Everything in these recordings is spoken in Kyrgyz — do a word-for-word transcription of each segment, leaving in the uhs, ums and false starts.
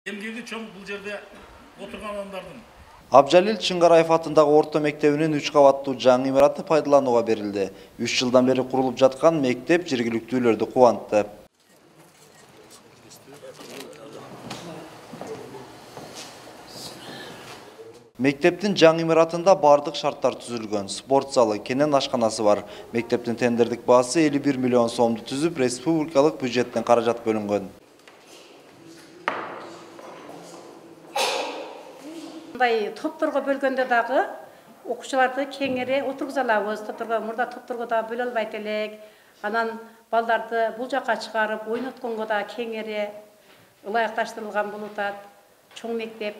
Эмгеги чоң бул жерде отурган адамдардын. Абжалил Чыңгараев атындагы орто мектебинин үч кабаттуу жаңы имараты пайдаланууга берилди. үч жылдан бери курулуп жаткан мектеп жергиликтүүлөрдү кубантты. Мектептин жаңы имаратында бардык шарттар түзүлгөн. Спорт залы, кенен ашканасы бар. Мектептин тендердик баасы элүү бир миллион сомду түзүп, республикалык бюджеттен каражат бөлүнгөн. Мындай топторго бөлгөндө дагы окуучуларды кеңири отургуза алабыз. Топторго мурда топторго да бөлө албайт элек. Анан балдарды бул жака чыгарып, ойнотконго да кеңири ылайыкташтырылган болуп атат. Чоң мектеп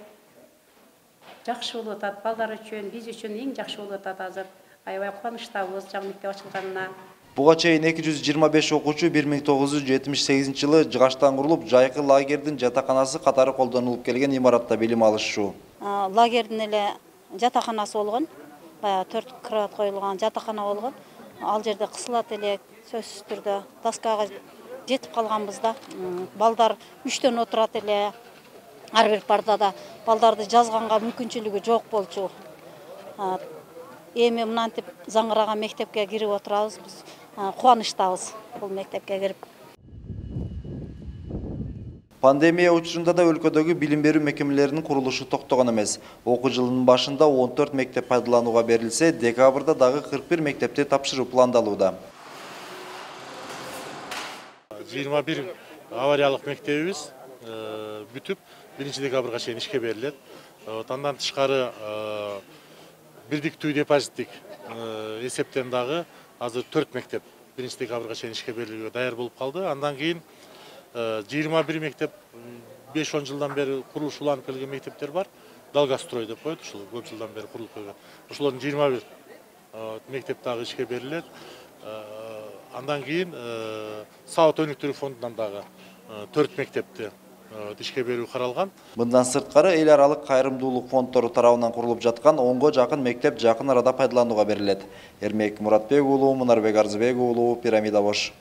жакшы болуп атат. Балдар үчүн, биз үчүн эң жакшы болуп атат азыр. Аябай кубанычтабыз жаңы мектеп ачылганына. Буга чейин эки жүз жыйырма беш окуучу бир миң тогуз жүз жетимиш сегизинчи жылы жыгачтан курулуп, жайкы лагердин жатаканасы катары колдонулуп келген имаратта билим алышчу. Лагердин эле жатаканасы болгон, баягы төрт кровать коюлган жатакана болгон. Ал жерде кысылат элек, сөзсүз түрдө доскага жетип калганбыз да. Балдар үчтөн отурат эле. Ар бир партада балдарды жазганга мүмкүнчүлүгү жок болчу. Эми мынантип заңыраган мектепке кирип отурабыз. Биз кубанычтабыз бул мектепке кирип. Пандемия учурунда да өлкөдөгү билим берүү мекемелеринин курулушу токтогон эмес. Окуу жылынын башында он төрт мектеп пайдаланууга берилсе, декабрда дагы кырк бир мектепти тапшыруу пландалууда. жыйырма бир авариялык мектебибиз бүтүп, биринчи декабрга чейин ишке берилет. Андан тышкары бирдиктүү депозиттик эсептен дагы азыр төрт мектеп биринчи декабрга чейин ишке берилүүгө даяр болуп калды. Андан кийин жыйырма бир мектеп беш он жылдан бери курулуш уланып келген мектептер бар. Далгастрой деп коет, ушул көп жылдан бери курулуп келген. Ошолордун жыйырма бир мектеп дагы ишке берилет. Андан кийин Саат өнүктүрүү фондунан дагы төрт мектепти ишке берүү каралган. Мындан сырткары эл аралык кайрымдуулук фонддору тарабынан курулуп жаткан онго жакын мектеп жакын арада пайдаланууга берилет. Эрмек Муратбек уулу, Мунарбек Арзыбек уулу, Пирамида Бош.